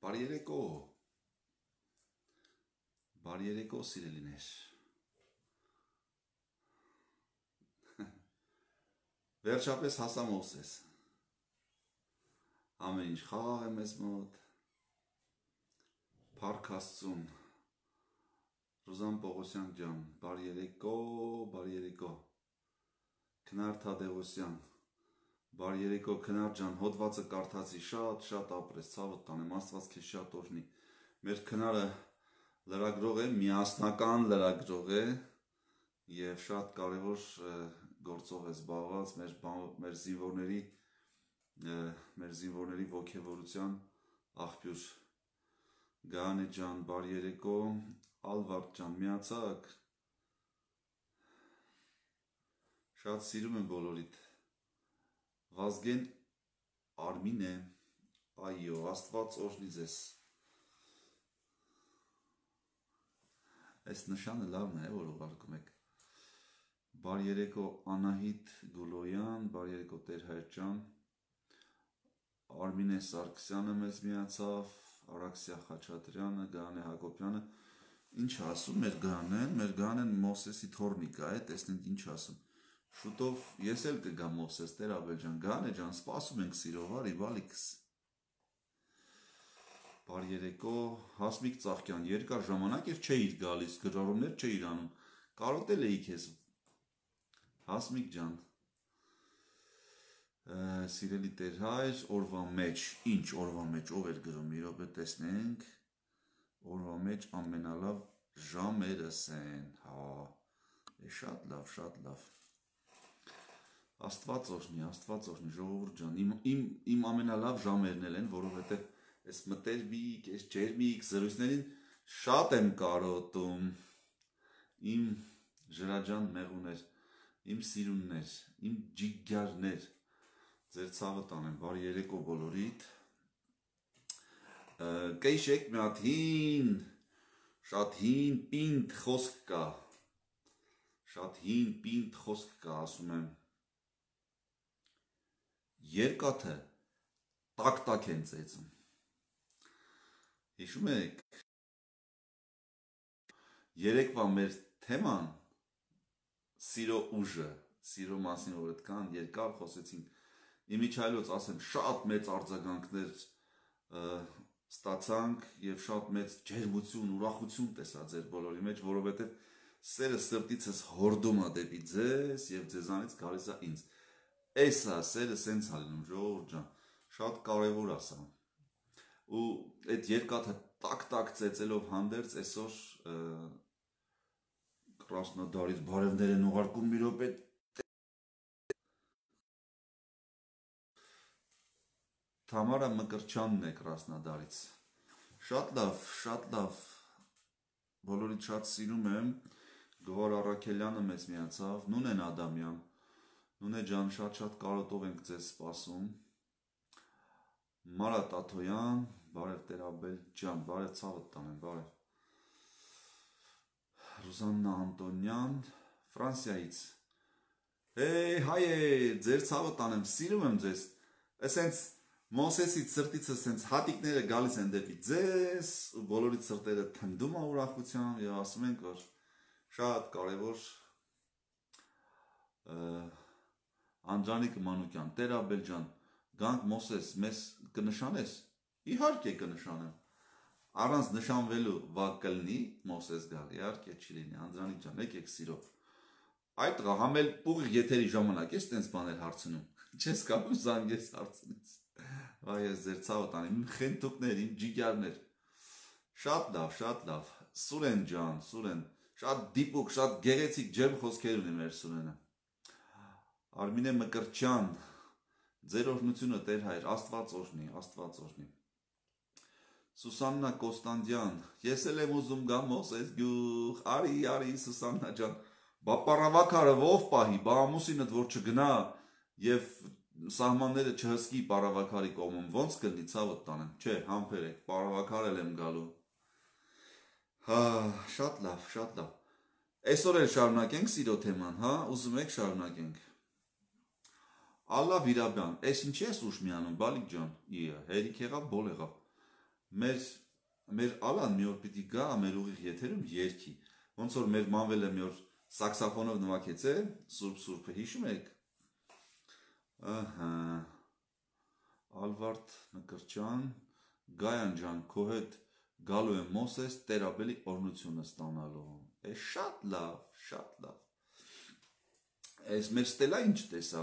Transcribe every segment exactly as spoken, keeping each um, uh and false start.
Բարի երեկո, բարի երեկո սիրելիներ, վերջապես հասա Մովսես, ամեն ինչ խաղ է մեզ մոտ, Փառք Աստծուն, Ռուզան Պողոսյան ջան, բարի երեկո, բարի երեկո, Քնար Թադևոսյան, բարի երեկո Քնար ջան, հոդվածը կարդացի, շատ շատ ապրես, ցավդ տանեմ, Աստված քեզ շատ օրհնի, մեր Քնարը լրագրող է, միասնական լրագրող է եւ շատ կարեւոր գործով է զբաղված մեր մեր զինվորների մեր զինվորների ողջավորության աղբյուր Գանե ջան, բարի երեկո, Ալվարդ ջան, միացակ շատ սիրում եմ բոլորիդ Վազգեն Արմին է, այո, Աստված օրհնի ձեզ Այս նշանը լավն է, որ ուղարկում եք Բարի երեկո Անահիտ Գուլոյան, բարի երեկո Տեր-Հայր ջան Արմինե Սարգսյանը մեզ միացավ, Արաքսիա Խաչատրյանը, Գանե Հակոբյանը Ինչ ասում մեր Գանեն, մեր Գանեն Մովսեսի թորնիկա է, տեսնենք ինչ ասում Շուտով ես էլ կգամ Մովսես, Տեր Աբել ջան, Գանե ջան, սպասում ենք սիրով, արի բալիքս Բարի երեկո, Հասմիկ Ծաղկյան, երկար ժամանակ էր չէիր գալիս, գրառումներ չէիր անում, կարոտել էի քեզ Հասմիկ ջան, սիրելի Տեր-Հայր, օրվա մեջ, ինչ օրվա մեջ, ով էր գրում, մի րոպե տեսնենք, օրվա մեջ ամենալավ ժամերս են, հա, շատ լավ, շատ լավ, Աստված օրհնի, Աստված օրհնի, ժողովուրդ ջան, իմ, իմ, իմ ամենալավ ժամերն են, որովհետև Այս մտերմիկ, այս ջերմիկ զրույցներին շատ եմ կարոտում, իմ ժրաջան մեղուներ, իմ սիրուններ, իմ ջիգյարներ, ձեր ցավը տանեմ, բարի երեկո բոլորիդ, կեշեք մի հատ հին, շատ հին պինդ խոսք կա, շատ հին պինդ խոսք կա, ասում եմ, երկաթը տակ-տակ են ծեծում, Հիշում եք, երեկվա մեր թեման սիրո ուժը, սիրո մասին որ այդքան երկար խոսեցինք, իմիջայլոց ասեմ շատ մեծ արձագանքներ ստացանք և շատ մեծ ջերմություն, ուրախություն տեսա ձեր բոլորի մեջ, որովհետև սերը սրտիցս հորդում է դեպի ձեզ և ձեզանից գալիս է ինձ, այս է սերը սենց է լինում, ժողովուրդ ջան, շատ կարևոր ասա ու այդ երկաթը տակ-տակ ծեծելով հանդերձ այսօր Կրասնոդարից բարևներ են ուղարկում մի րոպե Թամարա Մկրչյանն է Կրասնոդարից Շատ լավ, շատ լավ բոլորիդ շատ սիրում եմ Գոհար Առաքելյանը մեզ միացավ Նունեն Ադամյան Նունե ջան շատ-շատ կարոտով ենք ձեզ սպասում Մարատ Աթոյան, բարև Տեր Աբել ջան, բարև ցավդ տանեմ, բարև Ռուզաննա Անտոնյան, Ֆրանսիայից Հեյ, հայեր, ձեր ցավը տանեմ, սիրում եմ ձեզ Էսենց Մովսեսից սրտիցս սենց հատիկները գալիս են դեպի ձեզ ու բոլորիդ սրտերը թնդում է ուրախությամբ և ասում ենք, որ շատ կարևոր Անջանիկ Մանուկյան, Տեր Աբել ջան Գանք Մովսես, մեզ կնշանես, իհարկե կնշանեմ, առանց նշանվելու վակ կլնի Մովսես գալ, իհարկե չի լինի, Անդրանիկ ջան, եկեք սիրով, այդ տղա համել ուղիղ եթերի ժամանակ ես տենց բաներ հարցնում, չես կապում զանգես հարցնես, վայ ես ձեր ցավը տանեմ, իմ խենթուկներ, իմ ջիգյարներ, շատ լավ, շատ լավ, Սուրեն ջան, Սուրեն, շատ դիպուկ, շատ գեղեցիկ ջերմ խոսքեր ունի մեր Սուրենը, Արմինե Մկրչյան, Ձեր օրհնությունը Տեր Հայր, Աստված օրհնի, Աստված օրհնի։ Սուսաննա Կոստանդյան, ես էլ եմ ուզում գամ Մովսես գյուղ, արի, արի Սուսաննա ջան, բա պարավակարը ով պահի, բա ամուսինդ որ չգնա եւ սահմանները չհսկի պարավակարի կողմում, ոնց կլինի ցավդ տանեմ, չէ, համբերեք, պարավակար էլ եմ գալու։ Հա, շատ լավ, շատ լավ։ Այսօր էլ շարունակենք սիրո թեման, հա, ուզում եք շարունակենք։ Ալլա Վիրաբյան, այս ինչի ես ուշ միանում, բալիկ ջան, իա, հերիք եղավ, բոլ եղավ։ մեր մեր Ալան մի օր պիտի գա մեր ուղիղ եթերում երգի, ոնց որ մեր մանվելը մի օր սաքսոֆոնով նվագեց է, Սուրբ Սուրբը հիշում եք։ Ահա Ալվարդ Մկրտչյան, Գայան ջան, քո հետ գալու եմ Մոսես Տերաբելի օրհնությունը ստանալու։ Է շատ լավ, շատ լավ։ Այս մեր Ստելա ինչ տեսա։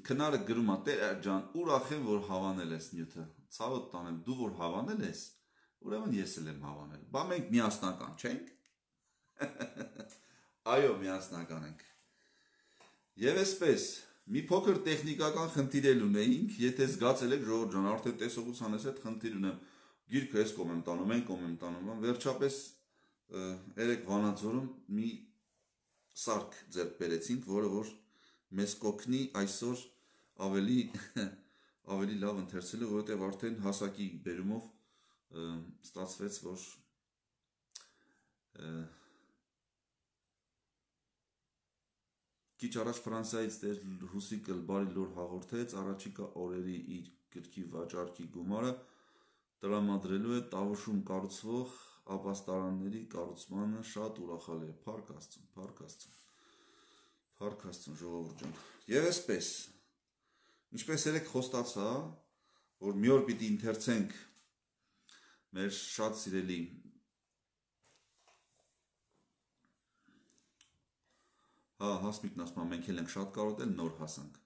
Քնարը գրում է Տեր ջան, ուրախ եմ որ հավանել ես նյութը։ Ցավոտ տանեմ, դու որ հավանել ես, ուրեմն ես էլ եմ հավանել։ Բա մենք միասնական չենք։ Այո, միասնական ենք։ Եվ այսպես, մի փոքր տեխնիկական խնդիր էլ ունեինք, եթե զգացել եք ժողովուրդ ջան, արդեն տեսողության ես այդ խնդիր ունեմ։ Գիրքը ես կողմ եմ տանում, են կողմ եմ տանում, վերջապես երեք Վանաձորում մի սարք ձեռք բերեցինք, որը որ մեզ կօգնի այսօր ավելի ավելի լավ ընթերցելու, որովհետև արդեն հասակի բերումով ստացվեց, որ քիչ առաջ Ֆրանսիայից Տեր Հուսիկը բարի լուր հաղորդեց, առաջիկա օրերի իր գրքի վաճառքի գումարը տրամադրելու է Տավուշում կառուցվող ապաստարանների կառուցմանը, շատ ուրախալ է, փառք Աստծուն, փառք Աստծուն, փառք Աստծուն ժողովուրդ ջան։ Եվ այսպես, ինչպես երեք խոստացա, որ մի օր պիտի ընթերցենք մեր շատ սիրելի հա, Հասմիկն ասում է, մենք էլ ենք շատ կարոտել, նոր հասանք։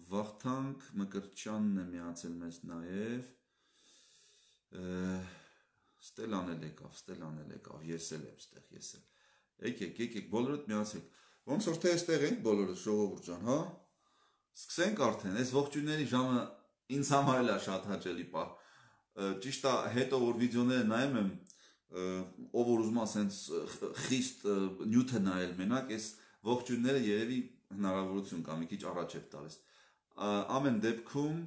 Վախթանք Մկրտչյանն է միացել մեզ նաև, Ստելան էլ եկավ, Ստելան էլ եկավ, ես էլ եմ ստեղ, ես էլ։ Եկեք, եկեք, բոլորդ միացեք։ Ոնց որ թե այստեղ ենք բոլորս ժողովուրդ ջան, հա։ Սկսենք արդեն, այս ողջույնների ժամը ինձ համար էլ է շատ հաճելի պահ։ Ճիշտ է, հետո որ վիդեոները նայում եմ, ով որ ուզում է ասենց խիստ նյութը նայել մենակ, այս ողջույնները երևի հնարավորություն կա, մի քիչ առաջ է տալիս։ Ամեն դեպքում,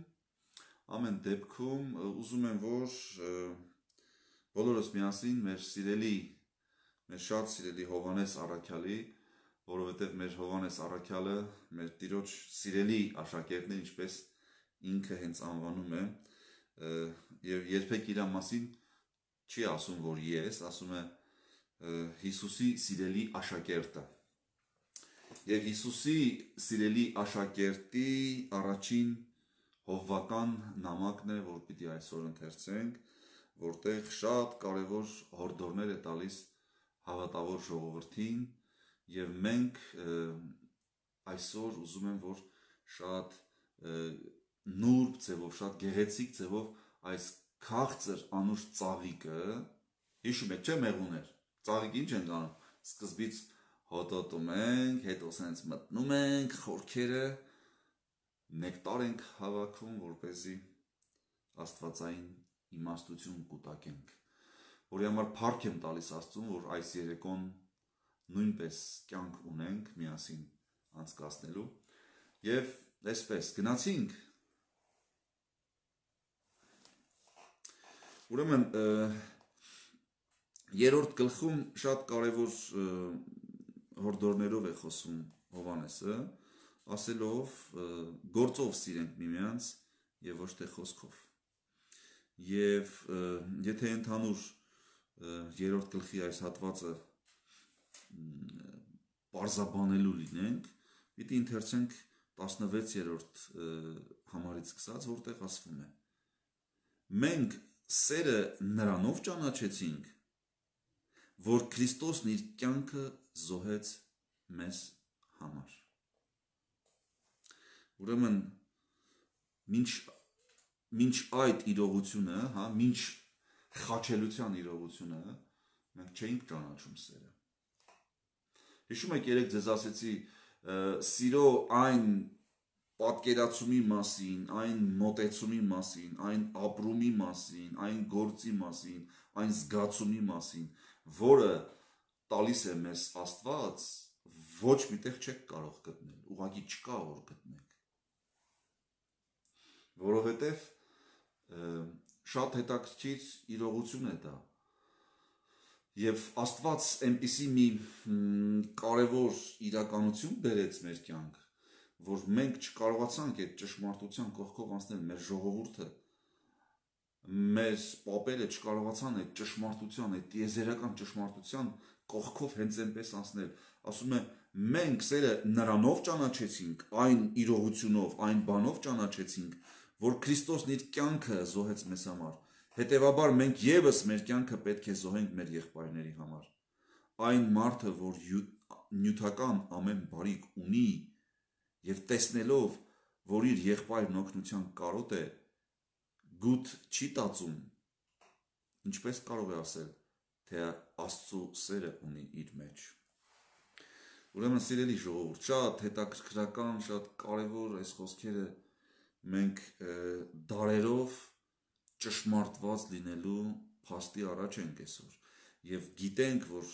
ամեն դեպքում ուզում եմ, որ բոլորս միասին մեր սիրելի, մեր շատ սիրելի Հովհաննես Առաքյալի, որովհետև մեր Հովհաննես Առաքյալը մեր Տիրոջ սիրելի աշակերտն է, ինչպես ինքը հենց անվանում է, եւ երբեք իր մասին չի ասում, որ ես, ասում է Հիսուսի սիրելի աշակերտը։ Եվ Հիսուսի սիրելի աշակերտի առաջին հովվական նամակն է, որ պիտի այսօր ընթերցենք, որտեղ շատ կարևոր հորդորներ է տալիս հավատավոր ժողովրդին, եւ մենք այսօր ուզում եմ, որ շատ նուրբ ձևով, շատ գեղեցիկ ձևով այս քաղցր անուշ ծաղիկը, հիշում եք, չէ՞ մեղուներ, ծաղիկ ինչ ենք անում, սկզբից հոտոտում ենք, հետո սենց մտնում ենք, խորքերը նեկտար ենք հավաքում, որպեսզի աստվածային իմաստություն կուտակենք, որի համար փառք եմ տալիս Աստծուն, որ այս երեկոն նույնպես կյանք ունենք միասին անցկացնելու, եւ այսպես գնացինք, ուրեմն երրորդ գլխում շատ կարևոր հորդորներով է խոսում Հովհաննեսը, ասելով գործով սիրենք միմյանց եւ ոչ թե խոսքով։ Եվ եթե ընդհանուր երրորդ գլխի այս հատվածը պարզաբանելու լինենք, պիտի ընթերցենք տասնվեցերորդ համարից սկսած, որտեղ ասվում է. մենք սերը նրանով ճանաչեցինք, որ Քրիստոսն իր կյանքը զոհեց մեզ համար։ Ուրեմն մինչ մինչ այդ իրողությունը, հա, մինչ խաչելության իրողությունը, մենք չէինք ճանաչում սերը։ Հիշում եք, երեք ձեզ ասեցի, սիրո այն պատկերացումի մասին, այն մոտեցումի մասին, այն ապրումի մասին, այն գործի մասին, այն զգացումի մասին, որը տալիս է մեզ Աստված, ոչ միտեղ չեք կարող գտնել, ուղղակի չկա որ գտնեք։ Որովհետև շատ հետաքրքիր իրողություն է դա։ Եվ Աստված այնպիսի մի կարևոր իրականություն բերեց մեր կյանք, որ մենք չկարողացանք այդ ճշմարտության կողքով անցնել, մեր ժողովուրդը, մեր պապերը չկարողացան այդ ճշմարտության, այդ տիեզերական ճշմարտության կողքով հենց այնպես անցնել։ Ասում է, մենք սերը նրանով ճանաչեցինք, այն իրողությունով, այն բանով ճանաչեցինք, որ Քրիստոսն իր կյանքը զոհեց մեզ համար։ Հետևաբար մենք եւս մեր կյանքը պետք է զոհենք մեր եղբայրների համար։ Այն մարդը, որ նյութական ամեն բարիք ունի եւ տեսնելով, որ իր եղբայրն օգնության կարոտ է, գուտ չի տածում, ինչպես կարող է ասել, թե Աստծո սերը ունի իր մեջ։ Ուրեմն սիրելի ժողովուրդ, շատ հետաքրքրական, շատ կարևոր այս խոսքերը մենք դարերով ճշմարտված լինելու փաստի առաջ ենք այսօր եւ գիտենք, որ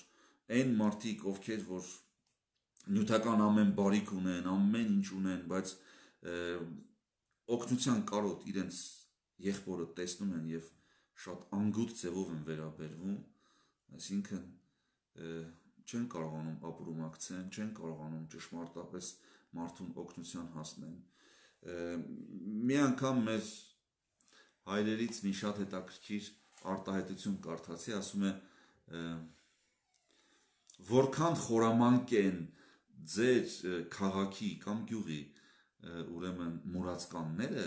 այն մարդիկ, ովքեր որ նյութական ամեն բարիք ունեն, ամեն ինչ ունեն, բայց օգնության կարոտ իրենց եղբորը տեսնում են եւ շատ անգութ ձևով են վերաբերվում, այսինքն չեն կարողանում ապրումակցեն, չեն կարողանում ճշմարտապես մարդուն օգնության հասնեն։ Մի անգամ մեր հայրերից մի շատ հետաքրքիր արտահայտություն կարդացի, ասում է, որքան խորամանկ են ձեր քաղաքի կամ գյուղի ուրեմն մուրացկանները,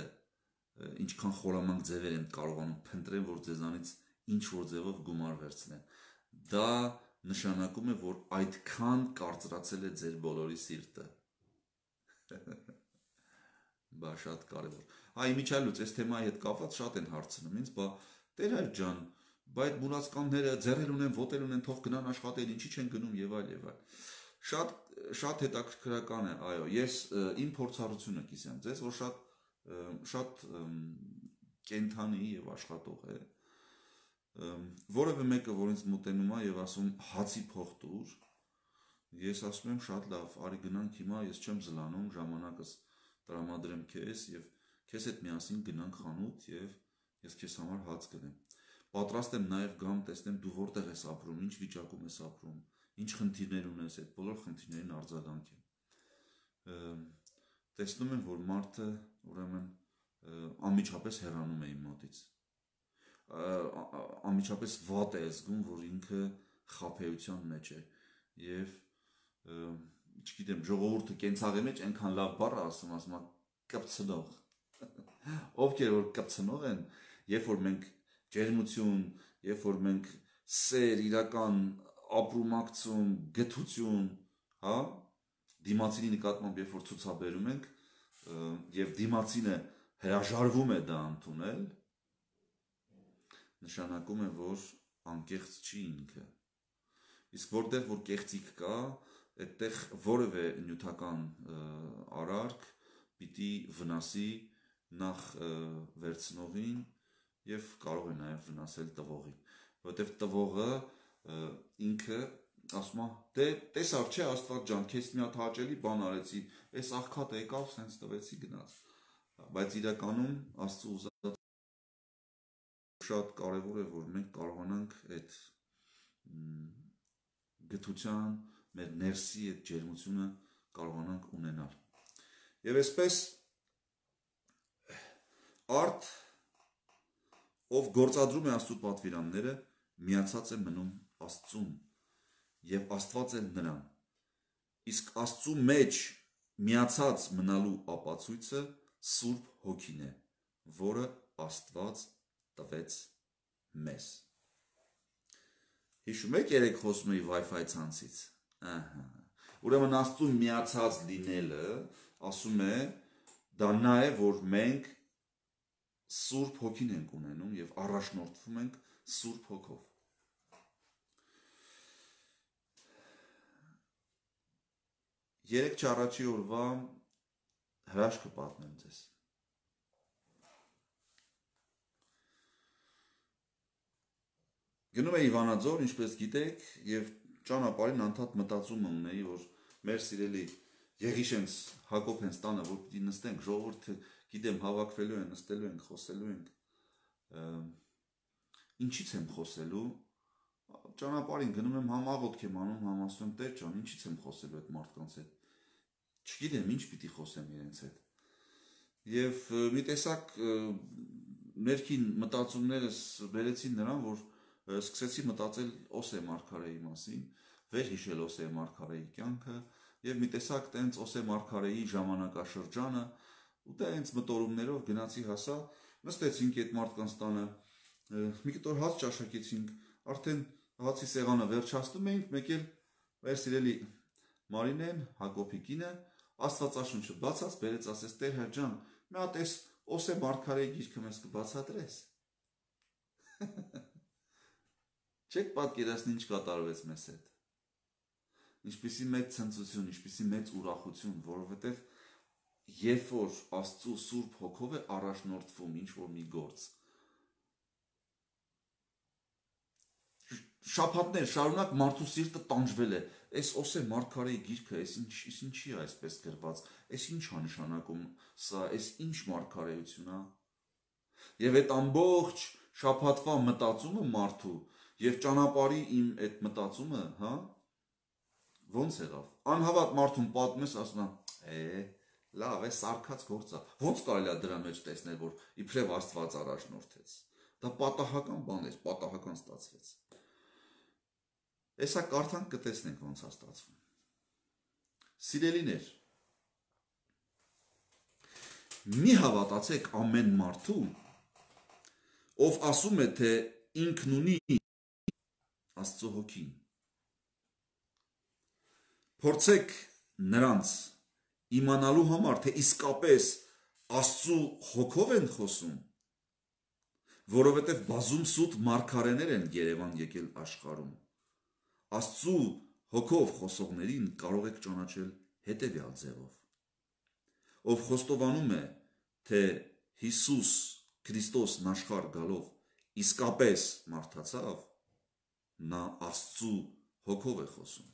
ինչքան խորամանկ ձևեր են կարողանում փնտրել, որ ձեզանից ինչ որ ձևով գումար վերցնեն։ Դա նշանակում է, որ այդքան կարծրացել է ձեր բոլորի սիրտը։ Բա շատ կարևոր։ Այ իմիջիալուց այս թեմայի հետ կապված շատ են հարցնում ինձ, բա Տեր հայր ջան, բայց մուրացկանները ձեռել ունեն, ոտել ունեն, թող գնան աշխատել, ինչի չեն գնում եւ այլ եւ այլ։ Շատ շատ հետաքրքրական է, այո, ես իմ փորձառությունը կիսեմ ձեզ, որ շատ շատ կենթանի եւ աշխատող է, որևէ մեկը, որ ինձ մոտենում է եւ ասում հացի փող տուր, ես ասում եմ շատ լավ, արի գնանք հիմա, ես չեմ զլանում, ժամանակս տրամադրեմ քեզ եւ քեզ հետ միասին գնանք խանութ եւ ես քեզ համար հաց գնեմ։ Պատրաստ եմ նաեւ գամ, տեսնեմ դու որտեղ ես ապրում, ինչ վիճակում ես ապրում, ինչ խնդիրներ ունես, այդ բոլոր խնդիրներին արձագանք եմ։ Տեսնում եմ, որ մարդը ուրեմն անմիջապես հեռանում է իմ մոտից։ Անմիջապես վատ է զգում, որ ինքը խաբեության մեջ է եւ չգիտեմ, ժողովուրդը կենցաղի մեջ այնքան լավ բառ ասում, ասում է կպցնող։ Ովքեր որ կպցնող են, երբ որ մենք ջերմություն, երբ որ մենք սեր, իրական ապրումակցում, գթություն, հա, դիմացինի նկատմամբ երբ որ ցուցաբերում ենք, եւ դիմացինը հրաժարվում է դա ընդունել, նշանակում է, որ անկեղծ չի ինքը։ Իսկ որտեղ որ կեղծիք կա, այդտեղ որևէ նյութական արարք պիտի վնասի նախ վերցնողին եւ կարող է նաեւ վնասել տվողին, որովհետեւ տվողը ինքը ասում է, դե տեսար չէ Աստված ջան, քեզ մի հատ հաճելի բան արեցի, այս աղքատը եկավ, սենց տվեցի գնաց, բայց իրականում Աստծո ուզած շատ կարևոր է, որ մենք կարողանանք այդ գթության, մեր ներսի այդ ջերմությունը կարողանանք ունենալ։ Եվ այսպես արդ, ով գործադրում է Աստծո պատվիրանները, միացած է մնում Աստծուն եւ Աստված է նրան։ Իսկ Աստծո մեջ միացած մնալու ապացույցը Սուրբ Հոգին է, որը Աստված տվեց մեզ։ Հիշում եք երեք խոսում էի Wi-Fi ցանցից։ Ահա։ Ուրեմն Աստծո միացած լինելը, ասում է, դա նա է, որ մենք Սուրբ Հոգին ենք ունենում եւ առաջնորդվում ենք Սուրբ Հոգով։ Երեք չառաջի օրվա հրաշքը պատմեմ ձեզ։ Գնում էի Վանաձոր, ինչպես գիտեք, եւ ճանապարհին անդադ մտածում ունեի, որ մեր սիրելի Եղիշենց Հակոբենց տանը, որ պիտի նստենք, ժողովուրդը գիտեմ հավաքվելու են, նստելու ենք, խոսելու ենք։ Ինչից եմ խոսելու։ Ճանապարհին գնում եմ, համ աղոթք եմ անում, համ ասում եմ Տեր ջան, ինչից եմ խոսելու այդ մարդկանց հետ։ Չգիտեմ ինչ պիտի խոսեմ իրենց հետ։ Եվ մի տեսակ ներքին մտածումներս բերեցին նրան, որ սկսեցի մտածել Օսե Մարգարեի մասին, վերհիշել Օսե Մարգարեի կյանքը եւ մի տեսակ տենց Օսե Մարգարեի ժամանակաշրջանը ու տենց մտորումներով գնացի հասա, նստեցինք այդ մարդկանց տանը, մի կտոր հաց ճաշակեցինք, արդեն հացի սեղանը վերջացնում էինք, մեկ էլ մեր սիրելի Մարինեն, Հակոբի կինը, Աստվածաշունչը բացած բերեց, ասեց Տեր Հայր ջան, մի հատ էս Օսե Մարգարեի գիրքը մեզ կբացատրես։ Չեք պատկերացնի ինչ կատարվեց մեզ հետ։ Ինչպիսի մեծ ցնծություն, ինչպիսի մեծ ուրախություն, որովհետև երբ որ Աստծո Սուրբ Հոգով է առաջնորդվում ինչ որ մի գործ, շաբաթներ շարունակ մարդու սիրտը տանջվել է, այս Օսե Մարգարեի գիրքը, այս ինչի է այսպես գրված, այս ինչ է նշանակում սա, այս ինչ մարգարեություն է։ Եվ այդ ամբողջ շաբաթվա մտածումը մարդու եւ ճանապարհի իմ այդ մտածումը, հա, ոնց եղավ։ Անհավատ մարդուն պատմես, ասում է, է, լավ է, սարքած գործ է։ Ոնց կարելի է դրա մեջ տեսնել, որ իբրև Աստված առաջնորդեց։ Դա պատահական բան էր, պատահական ստացվեց։ Էսա կարդանք կտեսնենք ոնց է ստացվում։ Սիրելիներ, մի հավատացեք ամեն մարդու, ով ասում է, թե ինքն ունի Աստծո հոգին։ Փորձեք նրանց իմանալու համար, թե իսկապես Աստծո հոգով են խոսում, որովհետև բազում սուտ մարգարեներ են Երևան եկել աշխարհում։ Աստծո հոգով խոսողներին կարող եք ճանաչել հետևյալ ձևով. ով խոստովանում է, թե Հիսուս Քրիստոսն աշխարհ գալով իսկապես մարդացավ, նա Աստծո հոգով է խոսում։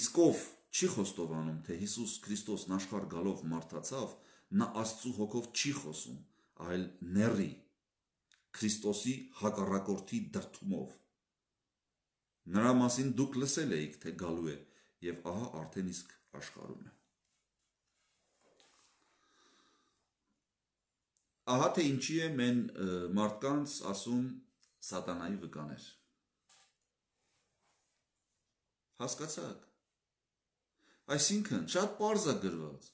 Իսկ ով չի խոստովանում, թե Հիսուս Քրիստոսն աշխարհ գալով մարդացավ, նա Աստծո հոգով չի խոսում, այլ ների Քրիստոսի հակառակորդի դրդումով։ Նրա մասին դուք լսել էիք, թե գալու է, եւ ահա արդեն իսկ աշխարհում է։ Ահա թե ինչի է մեն մարդկանց ասում սատանայի վկաներ։ Հասկացաք։ Այսինքն շատ պարզ է գրված։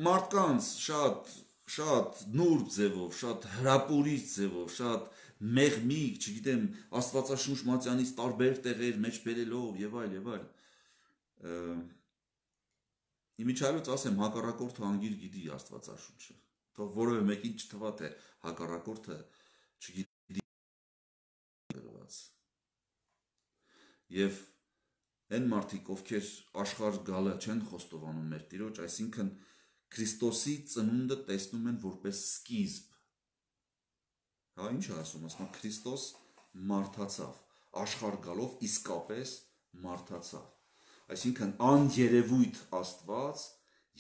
Մարդկանց շատ շատ նուրբ ձևով, շատ հրապուրիչ ձևով, շատ մեղմիկ, չգիտեմ, Աստվածաշունչ մատյանից տարբեր տեղեր մեջ բերելով եւ այլ եւ այլ։ Իմիջայլոց ասեմ, հակառակորդը անգիր գիտի Աստվածաշունչը։ Թող որևէ մեկին չթվա, թե հակառակորդը չգիտի գրված։ Եվ այն մարդիկ, ովքեր աշխարհ գալը չեն խոստովանում մեր Տիրոջ, այսինքն Քրիստոսի ծնունդը տեսնում են որպես սկիզբ։ Հա, ինչ է ասում, ասում է Քրիստոս մարդացավ, աշխարհ գալով իսկապես մարդացավ։ Այսինքն աներևույթ Աստված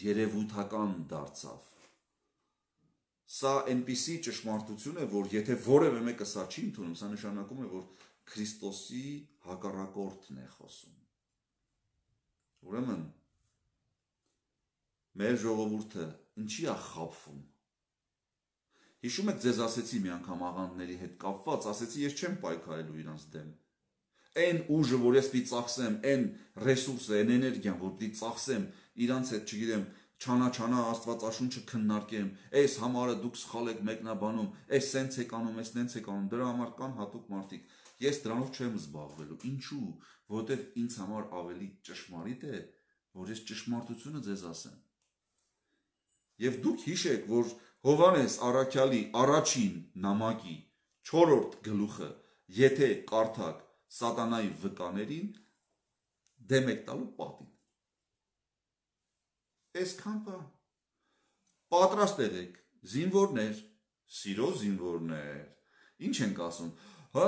երևույթական դարձավ։ Սա այնպիսի ճշմարտություն է, որ եթե որևէ մեկը սա չի ընդունում, սա նշանակում է, որ Քրիստոսի հակառակորդն է խոսում։ Ուրեմն մեր ժողովուրդը ինչի է խաբվում։ Հիշում եք, ձեզ ասեցի մի անգամ աղանդների հետ կապված, ասեցի ես չեմ պայքարելու իրանց դեմ։ Այն ուժը, որ ես պիտի ծախսեմ, այն ռեսուրսը, այն էներգիան, որ պիտի ծախսեմ, իրանց հետ, չգիտեմ, չանա-չանա Աստվածաշունչը քննարկեմ, այս համարը դուք սխալ եք մեկնաբանում, այս սենց եք անում, այս նենց եք անում, դրա համար կան հատուկ մարդիկ։ Ես դրանով չեմ զբաղվելու։ Ինչու՞, որովհետև ինձ համար ավելի ճշմարիտ է, որ ես ճշմարտությունը ձեզ ասեմ։ Եվ դուք հիշեք, որ Հովհաննես առաքյալի առաջին նամակի չորրորդ գլուխը, եթե կարդաք սատանայի վկաներին, դեմ եք տալու պատին։ Այսքան բան։ Պատրաստ եղեք, զինվորներ, սիրո զինվորներ, ինչ ենք ասում, հա,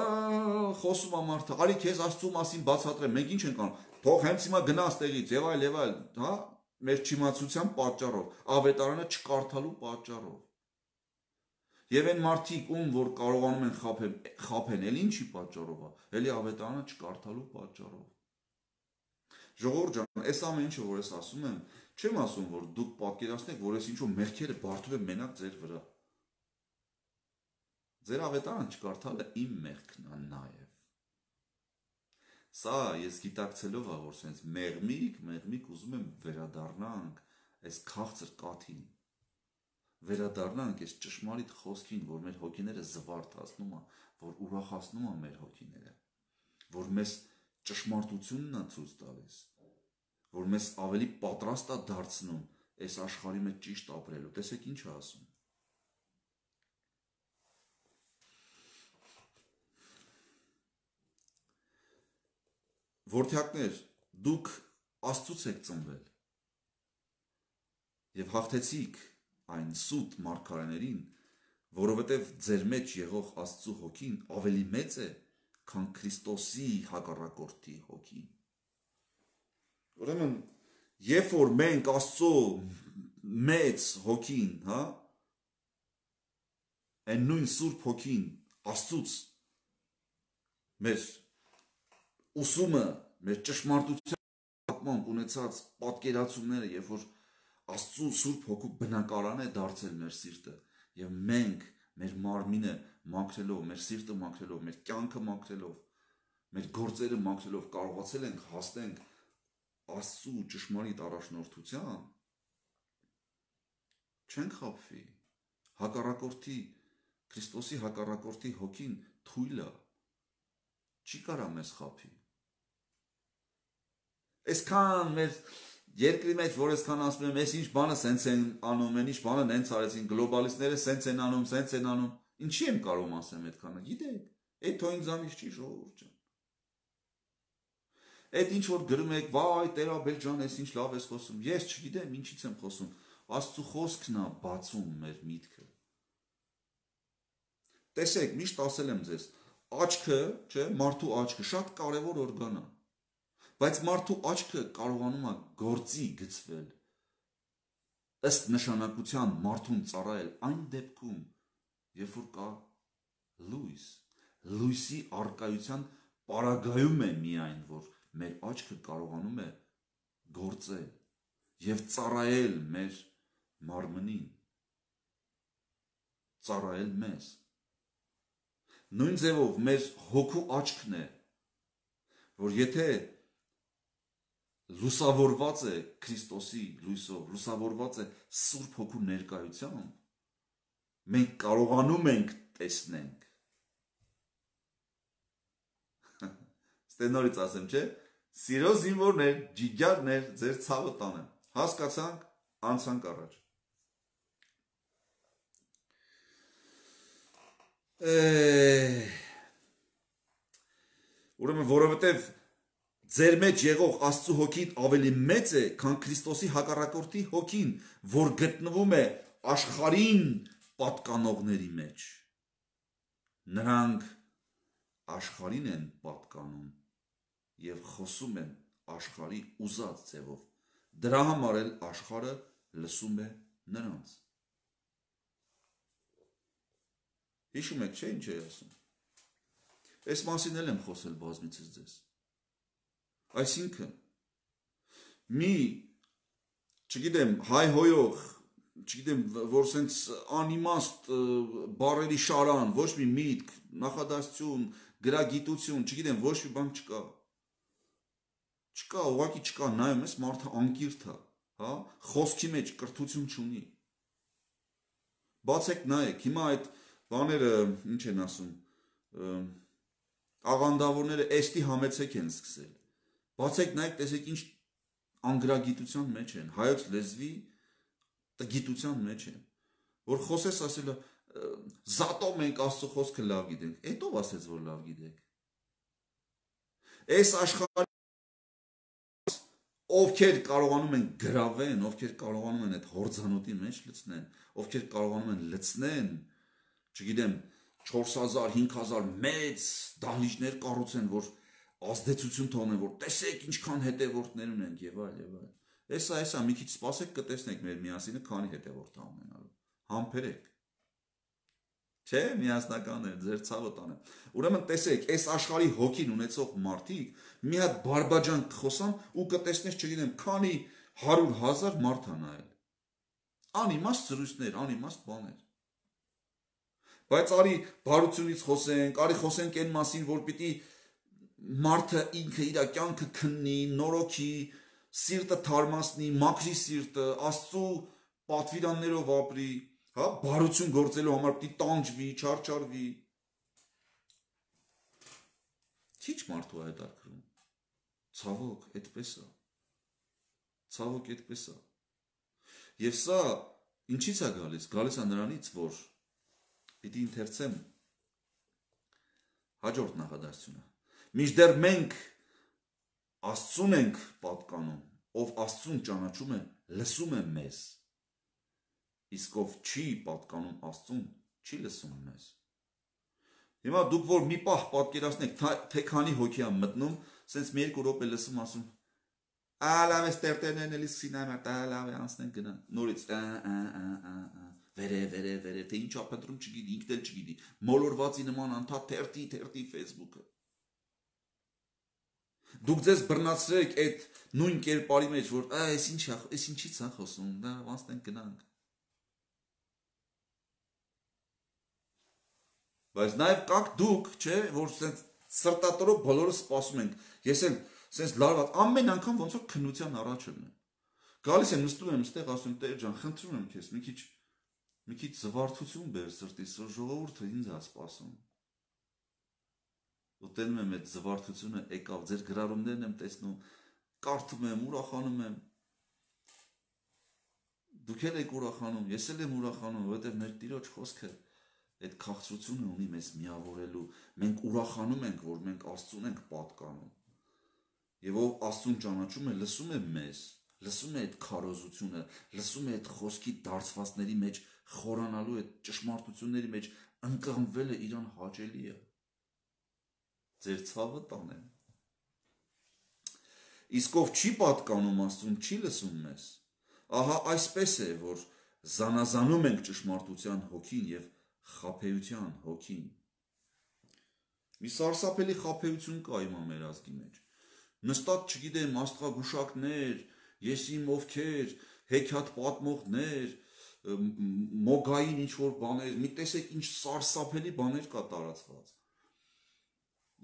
խոսում է մարդը, արի քեզ Աստծո մասին բացատրեմ, մենք ինչ ենք անում, թող հենց հիմա գնաս տեղից, եւ այլ, եւ այլ, հա, մեր չիմացության պատճառով, ավետարանը չկարդալու պատճառով։ Եվ այն մարդիկ, ում որ կարողանում են խափեն, խափեն, էլ ինչի պատճառով է, էլի ավետարանը չկարդալու պատճառով։ Ժողովուրդ ջան, այս ամեն ինչը, որ ես ասում եմ, չեմ ասում, որ դուք պատկերացնեք, որ ես ինչ-որ մեղքերը բարդում եմ մենակ ձեր վրա։ Ձեր ավետարանը չկարդալը իմ մեղքն է նաև։ Սա ես գիտակցելով է, որ սենց մեղմիկ, մեղմիկ ուզում եմ վերադառնանք այս քաղցր կաթին։ Վերադառնանք այս ճշմարիտ խոսքին, որ մեր հոգիները զվարթացնում է, որ ուրախացնում է մեր հոգիները, որ մեզ ճշմարտությունն է ցույց տալիս, որ մեզ ավելի պատրաստ է դարձնում այս աշխարհի մեջ ճիշտ ապրելու։ Տեսեք ինչ է ասում։ Որդյակներ, դուք Աստծուց եք ծնվել եւ հաղթեցիք այն սուտ մարգարեներին, որովհետեւ ձեր մեջ եղող Աստծու հոգին ավելի մեծ է, քան Քրիստոսի հակառակորդի հոգին։ Ուրեմն, երբ որ մենք Աստծու մեծ հոգին, հա, այն նույն Սուրբ հոգին Աստծուց մեր ուսումը, մեր ճշմարտության ունեցած պատկերացումները, երբ որ Աստծու Սուրբ հոգու բնակարան է դարձել մեր սիրտը, եւ մենք մեր մարմինը մաքրելով, մեր սիրտը մաքրելով, մեր կյանքը մաքրելով, մեր գործերը մաքրելով կարողացել ենք հասնենք Աստծու ճշմարիտ առաջնորդության, չենք խաբվի։ Հակառակորդի, Քրիստոսի հակառակորդի հոգին թույլ է, չի կարա մեզ խաբի։ Այսքան մեր երկրի մեջ, որ այսքան ասում եմ, այս ինչ բանը սենց են անում, այն ինչ բանը նենց արեցին, գլոբալիստները սենց են անում, սենց են անում, ինչի եմ կարող ասեմ այդքանը, գիտեք, այդ թո ինձանից չի ժողովուրդ ջան։ Այդ ինչ որ գրում եք, վայ, Տեր-Աբել ջան, այս ինչ լավ ես խոսում, ես չգիտեմ ինչից եմ խոսում, Աստծու խոսքն է բացում մեր միտքը։ Տեսեք, միշտ ասել եմ ձեզ, աչքը, չէ, մարդու աչքը շատ կարևոր օրգան է, բայց մարդու աչքը կարողանում է գործի գցվել, ըստ նշանակության մարդուն ծառայել այն դեպքում, երբ որ կա լույս, լույսի առկայության պարագայում է միայն, որ մեր աչքը կարողանում է գործել եւ ծառայել մեր մարմնին, ծառայել մեզ։ Նույն ձևով մեր հոգու աչքն է, որ եթե լուսավորված է Քրիստոսի լույսով, լուսավորված է Սուրբ հոգու ներկայությամբ, մենք կարողանում ենք տեսնենք։ Ստենորից ասեմ, չէ, սիրո զինվորներ, ջիջարներ, ձեր ցավը տանեմ։ Հասկացանք, անցանք առաջ։ Ուրեմն, որովհետև ձեր մեջ եղող Աստծու հոգին ավելի մեծ է, քան Քրիստոսի հակառակորդի հոգին, որ գտնվում է աշխարհին պատկանողների մեջ։ Նրանք աշխարհին են պատկանում եւ խոսում են աշխարհի ուզած ձևով։ Դրա համար էլ աշխարհը լսում է նրանց։ Հիշում եք, չէ՞ ինչ է ասում։ Այս մասին էլ եմ խոսել բազմիցս ձեզ։ Այսինքն, մի, չգիտեմ, հայհոյող, չգիտեմ, որ սենց անիմաստ բառերի շարան, ոչ մի միտք, նախադասություն, գրագիտություն, չգիտեմ, ոչ մի բան չկա։ Չկա, ուղղակի չկա, նայում ես, մարդը անկիրթ է, հա, խոսքի մեջ կրթություն չունի։ Բացեք նայեք, հիմա այդ բաները, ինչ են ասում, աղանդավորները էստի համեցեք են սկսել։ Բացեք նայեք, տեսեք ինչ անգրագիտության մեջ են, հայոց լեզվի տգիտության մեջ են, որ խոսես ասելը զատո մենք Աստծո խոսքը լավ գիտենք, էդ ով ասեց, որ լավ գիտեք։ Այս աշխարհի ովքեր կարողանում են գրավեն, ովքեր կարողանում են այդ հորձանոթի մեջ լցնեն, ովքեր կարողանում են լցնեն, չգիտեմ, չորս հազար, հինգ հազար մեծ դահլիճներ կառուցեն, որ ազդեցություն թողնեն, որ տեսեք ինչքան հետևորդներ ունենք եւ այլ եւ այլ։ Էսա, էսա, մի քիչ սպասեք կտեսնեք մեր միասինը քանի հետևորդ է ունենալու։ Համբերեք։ Չէ, միասնական է, ձեր ցավը տանեմ։ Ուրեմն տեսեք, այս աշխարհի հոգին ունեցող մարդիկ մի հատ բարբաջան կխոսան ու կտեսնես, չգիտեմ, քանի հարյուր հազար մարդ ա նայել։ Անիմաստ զրույցներ, անիմաստ բաներ։ Բայց արի բարությունից խոսենք, արի խոսենք այն մասին, որ պիտի մարդը ինքը իր կյանքը քննի, նորոգի, սիրտը թարմացնի, մաքրի սիրտը, Աստծո պատվիրաններով ապրի, հա, բարություն գործելու համար պիտի տանջվի, չարչարվի։ Քիչ մարդու այդ արկրում։ Ցավոք, այդպես է։ Ցավոք, այդպես է։ Եվ սա ինչից է գալիս։ Գալիս է նրանից, որ պիտի ընթերցեմ հաջորդ նախադասությունը։ Մինչդեռ մենք Աստծուն ենք պատկանում, ով Աստծուն ճանաչում է, լսում է մեզ։ Իսկ ով չի պատկանում Աստծուն, չի լսում մեզ։ Հիմա դուք որ մի պահ պատկերացնեք, թե քանի հոգի ա մտնում, սենց մի երկու րոպե լսում ասում, «Ալավ է ստերտերներն էլի սինայմա, տալավ է անցնենք գնան»։ Նորից վերև, վերև, վերև, թե ինչ ա փնտրում չգիտի, ինքն էլ չգիտի։ Մոլորվածի նման անդադ թերթի, թերթի Facebook-ը։ Դուք ձեզ բռնացրեք այդ նույն կերպարի մեջ, որ այս ինչ է, այս ինչից է խոսում, դա անցնենք գնանք։ Բայց նաև կաք դուք, չէ, որ սենց սրտատորով բոլորը սպասում ենք։ Ես էլ սենց լարված ամեն անգամ ոնց որ քննության առաջ եմ։ Գալիս եմ, նստում եմ, ստեղ ասում եմ, Տեր ջան, խնդրում եմ քեզ, մի քիչ մի քիչ զվարթություն բեր սրտիս, ժողովուրդը ինձ է սպասում։ Ու տենում եմ այդ զվարթությունը եկավ, ձեր գրառումներն եմ տեսնում, կարդում եմ, ուրախանում եմ։ Դուք էլ եք ուրախանում, ես էլ եմ ուրախանում, որովհետև մեր Տիրոջ խոսքը այդ քաղցրությունը ունի մեզ միավորելու, մենք ուրախանում ենք, որ մենք Աստծուն ենք պատկանում։ Եվ ով Աստծուն ճանաչում է, լսում է մեզ, լսում է այդ քարոզությունը, լսում է այդ խոսքի դարձվածների մեջ խորանալու, այդ ճշմարտությունների մեջ ընկղմվելը իրան հաճելի է։ Ձեր ցավը տանեմ։ Իսկ ով չի պատկանում Աստծուն, չի լսում մեզ։ Ահա այսպես է, որ զանազանում ենք ճշմարտության հոգին եւ խաբեության հոգին։ Մի սարսափելի խաբեություն կա իմ մեր ազգի մեջ։ Նստած, չգիտեմ, աստղագուշակներ, ես իմ ովքեր, հեքիաթ պատմողներ, մոգային ինչ որ բաներ, մի տեսեք ինչ սարսափելի բաներ կա տարածված։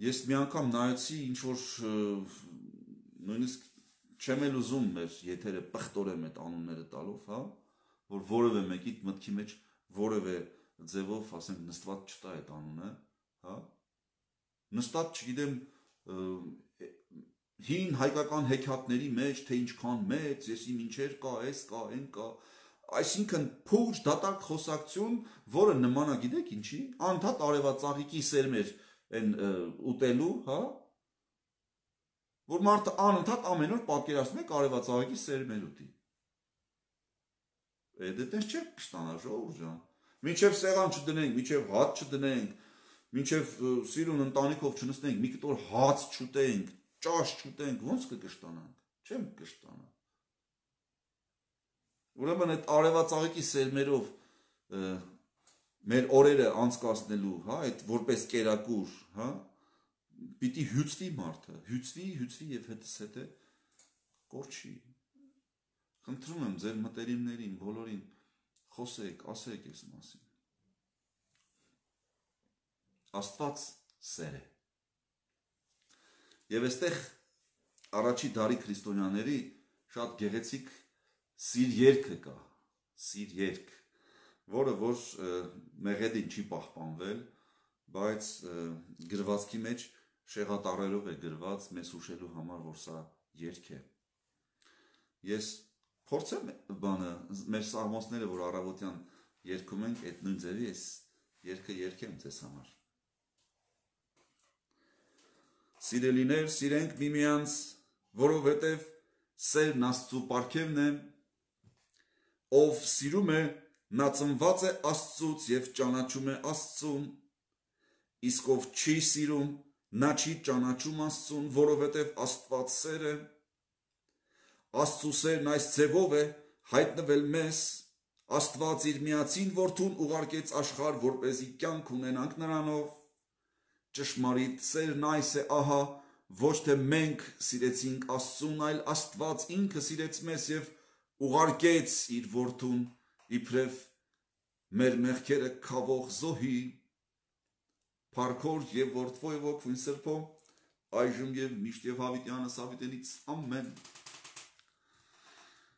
Ես մի անգամ նայեցի ինչ որ նույնիսկ չեմ էլ ուզում մեր եթերը պղտորեմ այդ անունները տալով, հա, որ որևէ մեկի մտքի մեջ որևէ ձևով, ասենք, նստված չտա այդ անունը, հա, նստած, չգիտեմ, հին հայկական հեքիաթների մեջ, թե ինչքան մեծ, ես իմ ինչեր կա, այս կա, այն կա, այսինքն փուչ դատարկ խոսակցություն, որը նման է, գիտեք ինչի, անդադ արևածաղիկի սերմեր են ուտելու, հա, որ մարդը անընդհատ ամեն օր պատկերացնում եք արևածաղիկի սերմեր ուտի։ Այդ այդպես չէ կստանա ժողովուրդ ջան։ Մինչև սեղան չդնենք, մինչև հաց չդնենք, մինչև սիրուն ընտանիքով չնստենք, մի կտոր հաց չուտենք, ճաշ չուտենք, ոնց կկշտանանք։ Չեմ կշտանա։ Ուրեմն այդ արևածաղիկի սերմերով մեր օրերը անցկացնելու, հա, այդ որպես կերակուր, հա, պիտի հյուծվի մարդը, հյուծվի, հյուծվի եւ հետս հետը կորչի։ Խնդրում եմ ձեր մտերիմներին, բոլորին խոսեք, ասեք այս մասին։ Աստված սեր է։ Եվ այստեղ առաջի դարի քրիստոնյաների շատ գեղեցիկ սիր երգը կա, սիր երգ, որը որ մեղեդին չի պահպանվել, բայց գրվածքի մեջ շեղատարերով է գրված մեզ հուշելու համար, որ սա երգ է։ Ես փորձեմ բանը, մեր սաղմոսները, որ առավոտյան երգում ենք, այդ նույն ձևի ես երգը երգեմ ձեզ համար։ Սիրելիներ, սիրենք միմյանց, որովհետև սերն Աստծու պարգևն է, ով սիրում է, նա ծնված է Աստծուց եւ ճանաչում է Աստծուն, իսկ ով չի սիրում, նա չի ճանաչում Աստծուն, որովհետև Աստված սեր է։ Աստծու սերն այս ձևով է հայտնվել մեզ, Աստված իր միածին որդուն ուղարկեց աշխարհ, որպեսզի կյանք ունենանք նրանով։ Ճշմարիտ սերն այս է, ահա, ոչ թե մենք սիրեցինք Աստծուն, այլ Աստված ինքը սիրեց մեզ եւ ուղարկեց իր որդուն իբրև մեր մեղքերը քավող զոհի, փառքոր եւ որդվոյ ոգուն սրբո, այժմ եւ միշտ եւ հավիտյանս հավիտենից ամեն։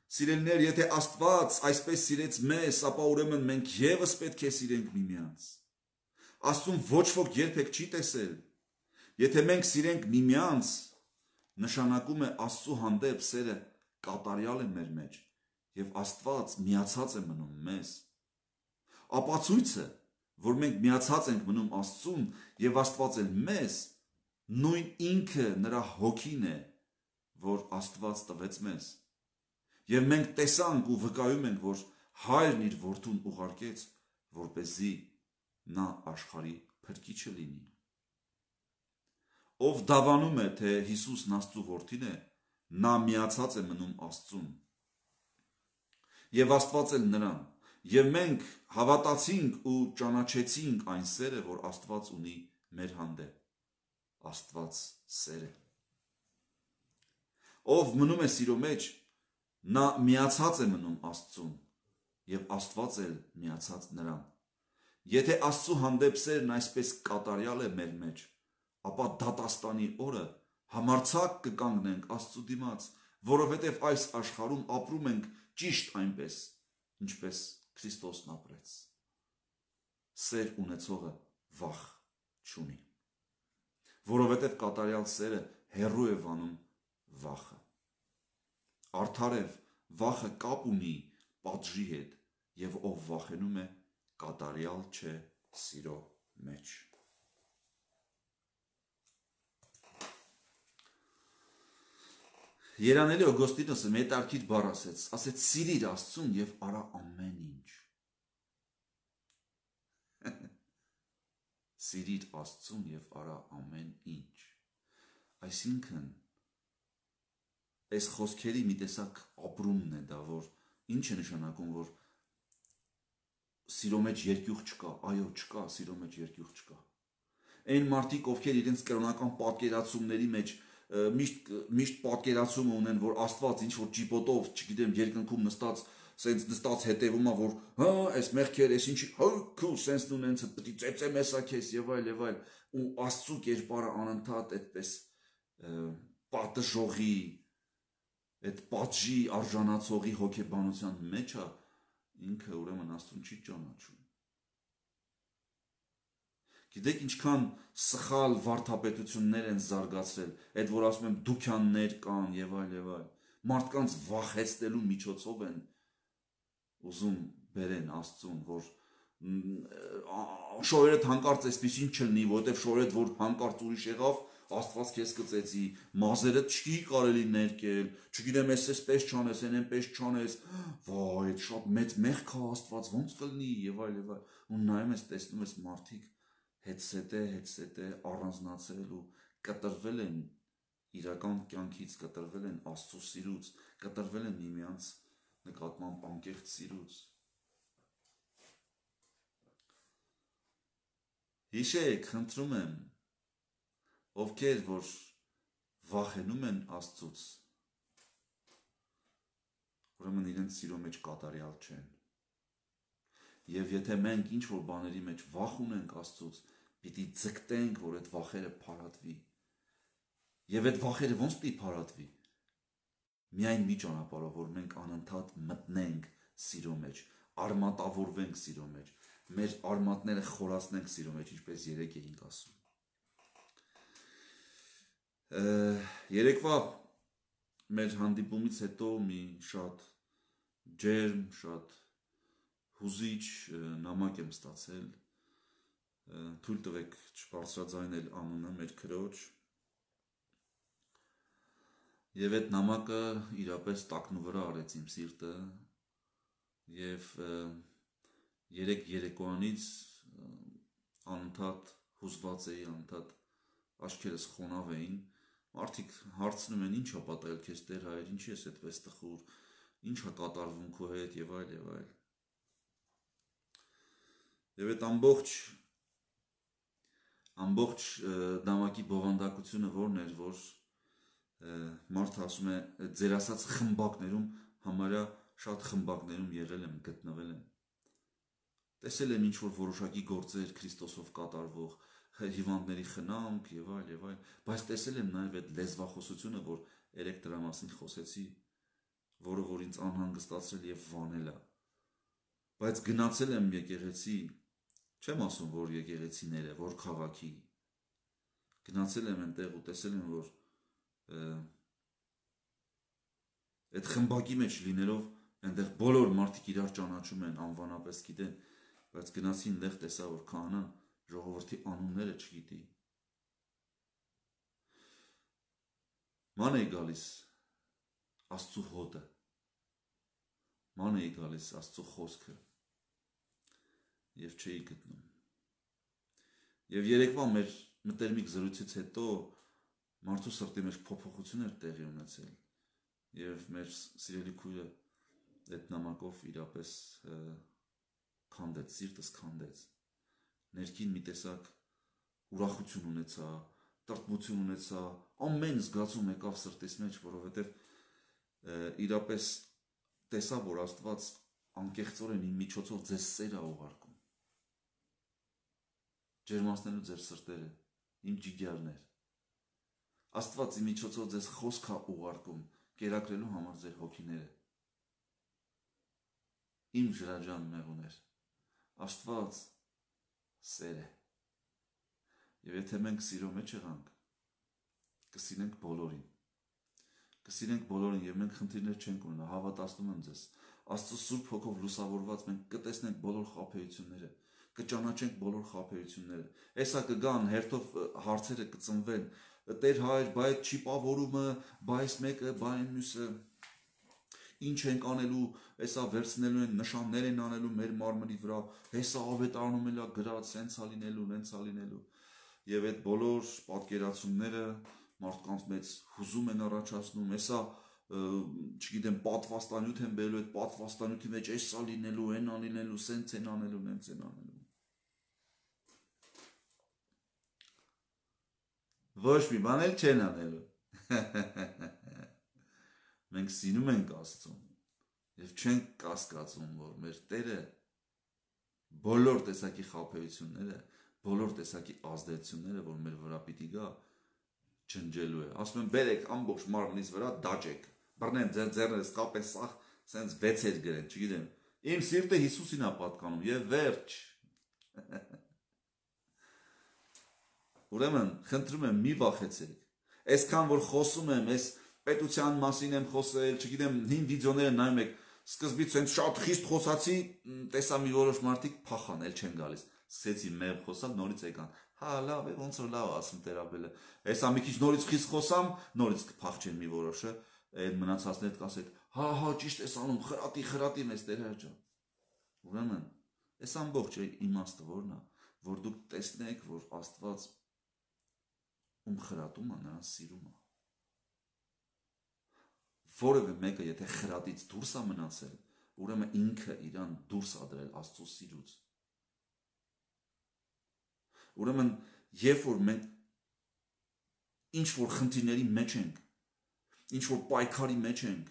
Սիրելիներ, եթե Աստված այսպես սիրեց մեզ, ապա ուրեմն մենք եւս պետք է սիրենք միմյանց։ Աստծուն ոչ ոք երբեք չի տեսել։ Եթե մենք սիրենք միմյանց, նշանակում է Աստծու հանդեպ սերը կատարյալ է մեր մեջ եւ Աստված միացած է մնում մեզ։ Ապացույցը, որ մենք միացած ենք մնում Աստծուն եւ Աստված էլ մեզ, նույն ինքը նրա հոգին է, որ Աստված տվեց մեզ։ Եվ մենք տեսանք ու վկայում ենք, որ Հայրն իր որդուն ուղարկեց, որպեսզի նա աշխարհի փրկիչը լինի։ Ով դավանում է, թե Հիսուսն Աստծու որդին է, նա միացած է մնում Աստծուն։ Եվ Աստված էլ նրան։ Եվ մենք հավատացինք ու ճանաչեցինք այն սերը, որ Աստված ունի մեր հանդեպ։ Աստված սեր է։ Ով մնում է սիրո մեջ, նա միացած է մնում Աստծուն եւ Աստված էլ միացած նրան։ Եթե Աստծու հանդեպ սերն այսպես կատարյալ է մեր մեջ, ապա դատաստանի օրը համարձակ կկանգնենք Աստծու դիմաց, որովհետև այս աշխարհում ապրում ենք ճիշտ այնպես, ինչպես Քրիստոսն ապրեց։ Սեր ունեցողը վախ չունի, որովհետև կատարյալ սերը հեռու է վանում վախը։ Արդարև վախը կապ ունի պատժի հետ, եւ ով վախենում է, կատարյալ չէ սիրո մեջ։ Երանելի Օգոստինոսը մետարկիր բառ ասեց, ասեց սիրիր Աստծուն եւ արա ամեն ինչ։ Սիրիր Աստծուն եւ արա ամեն ինչ։ Այսինքն այս խոսքերի մի տեսակ ապրումն է դա, որ ինչ է նշանակում, որ սիրո մեջ երկյուղ չկա, այո, չկա, սիրո մեջ երկյուղ չկա։ Այն մարդիկ, ովքեր իրենց կրոնական պատկերացումների մեջ միշտ միշտ պատկերացում ունեն, որ Աստված ինչ որ ճիպոտով, չգիտեմ, երկնքում նստած, սենց նստած հետևում է, որ հա, այս մեղքեր, այս ինչի, հա, քու սենց նունենց պետք է ծեծեմ էսա քեզ եւ այլ եւ այլ, ու Աստծու կերպարը անընդհատ այդպես պատժողի, այդ պատժի արժանացողի հոգեբանության մեջ է, ինքը ուրեմն Աստծուն չի ճանաչում։ Գիտեք ինչքան սխալ վարդապետություններ են զարգացրել, այդ որ ասում եմ դուքյաններ կան եւ այլ եւ այլ, մարդկանց վախեցնելու միջոցով են ուզում բերեն Աստծուն, որ շորերդ հանկարծ այսպեսին չլինի, որովհետեւ շորերդ որ հանկարծ ուրիշ եղավ, Աստված քեզ կծեցի, մազերը չի կարելի ներկել, չգիտեմ, ես էսպես չանես, այն այնպես չանես, վայ, այդ շատ մեծ մեղք է Աստված, ոնց կլինի եւ այլ եւ այլ։ Ու նայում ես, տեսնում ես մարդիկ հետսետե, հետսետե առանձնացել ու կտրվել են իրական կյանքից, կտրվել են Աստծո սիրուց, կտրվել են միմյանց նկատմամբ անկեղծ սիրուց։ Հիշեք, խնդրում եմ, ովքեր որ վախենում են Աստծուց, ուրեմն իրենց սիրո մեջ կատարյալ չեն։ Եվ եթե մենք ինչ որ բաների մեջ վախ ունենք Աստծուց, պիտի ձգտենք, որ այդ վախերը փարատվի։ Եվ այդ վախերը ոնց պիտի փարատվի։ Միայն մի ճանապարհով, որ մենք անընդհատ մտնենք սիրո մեջ, արմատավորվենք սիրո մեջ, մեր արմատները խորացնենք սիրո մեջ, ինչպես երեք էինք ասում։ Երեկվա մեր հանդիպումից հետո մի շատ ջերմ, շատ հուզիչ նամակ եմ ստացել, թույլ տվեք չբարձրաձայնել անունը մեր քրոջ, եւ այդ նամակը իրապես տակնուվրա արեց իմ սիրտը, եւ երեք երեկոյանից անընդհատ հուզված էի, անընդհատ աչքերս խոնավ էին, մարդիկ հարցնում են, ինչ ա պատահել քեզ Տեր Հայր, ինչի ես այդպես տխուր, ինչ ա կատարվում քո հետ եւ այլ եւ այլ։ Եվ այդ ամբողջ ամբողջ դամակի բովանդակությունը որն էր, որ մարդը ասում է ձեր ասած խմբակներում համարյա շատ խմբակներում եղել եմ, գտնվել եմ։ Տեսել եմ ինչ-որ որոշակի գործեր Քրիստոսով կատարվող, հիվանդների խնամք եւ այլ եւ այլ, բայց տեսել եմ նաեւ այդ լեզվախոսությունը, որ երեք դրա մասին խոսեցի, որը որ ինձ անհանգստացրել եւ վանել է։ Բայց գնացել եմ եկեղեցի, չեմ ասում, որ եկեղեցիները, որ քաղաքի, գնացել եմ այնտեղ ու տեսել եմ, որ այդ խմբակի մեջ լինելով այնտեղ բոլոր մարդիկ իրար ճանաչում են, անվանապես գիտեն, բայց գնացի այնտեղ տեսա, որ քահանան ժողովրդի անունները չգիտի։ Ման էի գալիս Աստծու հոտը, ման էի գալիս Աստծու խոսքը եւ չէի գտնում։ Եվ երեկվա մեր մտերմիկ զրույցից հետո մարդու սրտի մեջ փոփոխություն էր տեղի ունեցել եւ մեր սիրելի քույրը այդ նամակով իրապես քանդեց, սիրտս քանդեց, ներքին մի տեսակ ուրախություն ունեցա, տրտմություն ունեցա, ամեն զգացում եկավ սրտիս մեջ, որովհետեւ իրապես տեսա, որ Աստված անկեղծորեն իմ միջոցով ձեզ սեր է ուղարկում, ջերմացնելու ձեր սրտերը, իմ ջիգյարներ, Աստված իմ միջոցով ձեզ խոսք է ուղարկում, կերակրելու համար ձեր հոգիները, իմ ջրաջան մեղուներ, Աստված սեր է, եւ եթե մենք սիրո մեջ եղանք, կսիրենք բոլորին, կսիրենք բոլորին եւ մենք խնդիրներ չենք ունենա, հավատացնում եմ ձեզ, Աստծո Սուրբ Հոգով լուսավորված մենք կտեսնենք բոլոր խաբեությունները, կճանաչենք բոլոր խաբեությունները, հեսա կգան հերթով հարցերը կծնվեն, Տեր Հայր, բայ այդ չի պավորումը, բայ այս մեկը, բայ այն մյուսը, ինչ ենք անելու, հեսա վերցնելու են, նշաններ են անելու մեր մարմնի վրա, հեսա ավետարանում էլա գրած, սենց է լինելու, նենց է լինելու, եւ այդ բոլոր պատկերացումները մարդկանց մեծ հուզում են առաջացնում, հեսա չգիտեմ, պատվաստանյութ են բերելու, այդ պատվաստանյութի մեջ էսա լինելու, են անլինելու, սենց են անելու, նենց են անելու։ Ոչ մի բան էլ չեն անելու։ Մենք սիրում ենք Աստծուն եւ չենք կասկածում, որ մեր Տերը բոլոր տեսակի խաբեությունները, բոլոր տեսակի ազդեցությունները, որ մեր վրա պիտի գա, ջնջելու է։ Ասում են, բերեք ամբողջ մարմնից վրա դաջեք, բռնեն ձեր ձեռներս, կապեն սաղ, սենց վեցեր գրեն, չգիտեմ։ Իմ սիրտը Հիսուսին է պատկանում եւ վերջ։ Ուրեմն, խնդրում եմ, մի վախեցեք։ Այսքան որ խոսում եմ, այս պետության մասին եմ խոսել, չգիտեմ, հին վիդեոները նայում եք, սկզբից հենց շատ խիստ խոսացի, տեսա մի որոշ մարդիկ փախան, էլ չեն գալիս։ Սկսեցի մեղ խոսալ, նորից եկան։ Հա, լավ է, ոնց որ լավ ասում Տերաբելը։ Հեսա մի քիչ նորից խիստ խոսամ, նորից կփախչեն մի որոշը, այդ մնացածները կասեն, հա, հա, ճիշտ ես անում, խրատի, խրատի մեզ Տեր ջան։ Ուրեմն, այս ամբողջ իմաստը որն է, որ դուք տեսնեք, որ Աստված ում խրատում է, նրան սիրում է։ Որևէ մեկը եթե խրատից դուրս է մնացել, ուրեմն ինքը իրան դուրս է դրել Աստծո սիրուց։ Ուրեմն, երբ որ մենք ինչ որ խնդիրների մեջ ենք, ինչ որ պայքարի մեջ ենք,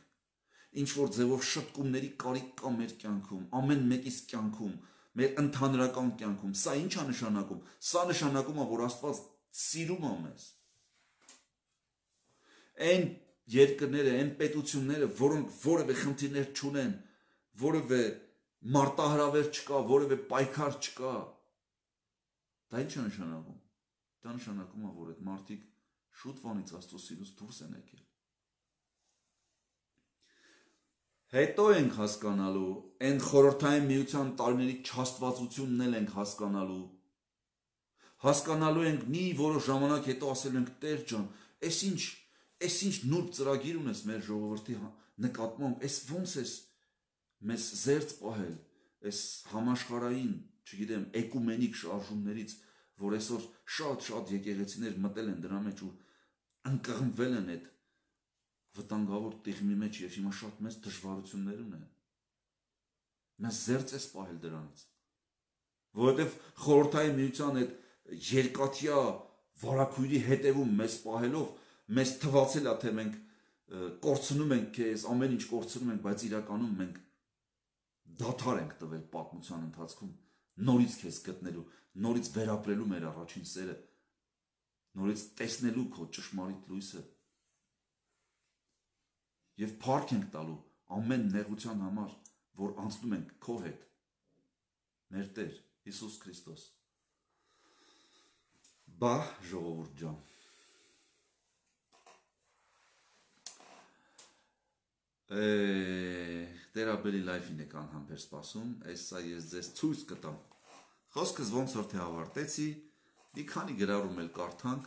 ինչ որ ձևով շտկումների կարիք կա մեր կյանքում, ամեն մեկիս կյանքում, մեր ընդհանրական կյանքում, սա ինչ է նշանակում։ Սա նշանակում է, որ Աստված սիրում է մեզ։ Այն երկրները, այն պետությունները, որոնք որևէ խնդիրներ չունեն, որևէ մարտահրավեր չկա, որևէ պայքար չկա, դա ինչ է նշանակում։ Դա նշանակում է, որ այդ մարդիկ շուտ վանից Աստծո սիրուց դուրս են եկել։ Հետո ենք հասկանալու, այն խորհրդային միության տարիների չաստվածությունն էլ ենք հասկանալու։ Հասկանալու ենք մի որոշ ժամանակ հետո ասելու ենք Տեր ջան, այս ինչ, այս ինչ նուրբ ծրագիր ունես մեր ժողովրդի նկատմամբ, այս ոնց ես մեզ զերծ պահել, այս համաշխարհային, չգիտեմ, էկումենիկ շարժումներից, որ այսօր շատ-շատ եկեղեցիներ մտել են դրա մեջ ու ընկղմվել են այդ վտանգավոր տիղմի մեջ եւ հիմա շատ մեծ դժվարություններ ունեն։ Մեզ զերծ ես պահել դրանից։ որովհետև խորհրդային միության այդ երկաթյա վարակույրի հետևում մեզ պահելով մեզ թվացել է, թե մենք կորցնում ենք քեզ, ամեն ինչ կորցնում ենք, բայց իրականում մենք դադար ենք տվել պատմության ընթացքում նորից քեզ գտնելու, նորից վերապրելու մեր առաջին սերը, նորից տեսնելու քո ճշմարիտ լույսը եւ փառք ենք տալու ամեն նեղության համար, որ անցնում ենք քո հետ, մեր Տեր Հիսուս Քրիստոս։ Բա ժողովուրդ ջան, Տերաբելի լայֆին եք անհամբեր սպասում, այսա ես ձեզ ցույց կտամ։ Խոսքս ոնց որ թե ավարտեցի, մի քանի գրառում էլ կարդանք,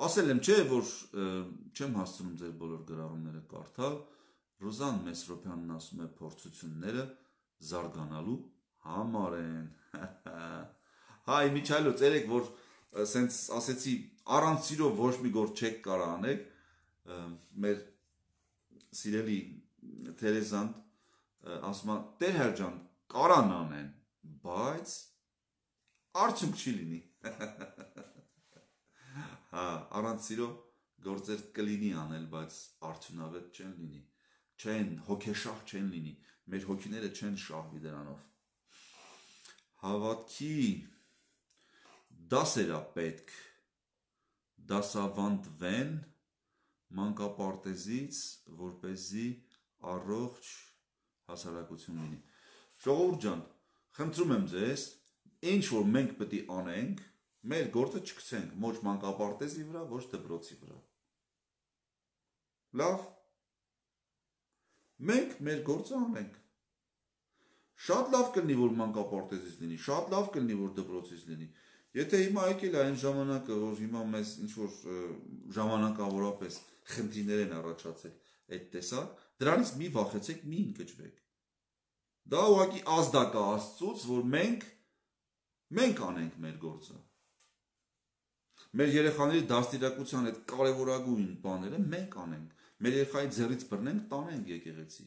ասել եմ չէ, որ չեմ հասցնում ձեր բոլոր գրառումները կարդալ, Ռուզան Մեսրոպյանն ասում է փորձությունները զարգանալու համար են։ Հա, իմիջայլոց երեք, որ սենց ասեցի, առանց սիրով ոչ մի գործ չեք կարող անեք, մեր սիրելի Թերեզան ասում է, Տեր Հայր ջան, կարան անեն, բայց արդյունք չի լինի։ Հա, առանց սիրով գործեր կլինի անել, բայց արդյունավետ չեն լինի, չեն, հոգեշահ չեն լինի, մեր հոգիները չեն շահվի դրանով։ Հավատքի դասեր է պետք դասավանդվեն մանկապարտեզից, որպեսզի առողջ հասարակություն լինի։ Ժողովուրդ ջան, խնդրում եմ ձեզ, ինչ որ մենք պետք է անենք, մեր գործը չգցենք ոչ մանկապարտեզի վրա, ոչ դպրոցի վրա։ Լավ, մենք մեր գործը անենք։ Շատ լավ կլինի, որ մանկապարտեզից լինի, շատ լավ կլինի, որ դպրոցից լինի։ Եթե հիմա եկել է այն ժամանակը, որ հիմա մեզ ինչ որ ժամանակավորապես խնդիրներ են առաջացել այդ տեսակ, դրանից մի վախեցեք, մի ընկճվեք։ Դա ուղղակի ազդակ է Աստծուց, որ մենք մենք անենք մեր գործը։ Մեր երեխաների դաստիարակության այդ կարևորագույն բաները մենք անենք։ Մեր երեխայի ձեռից բռնենք, տանենք եկեղեցի։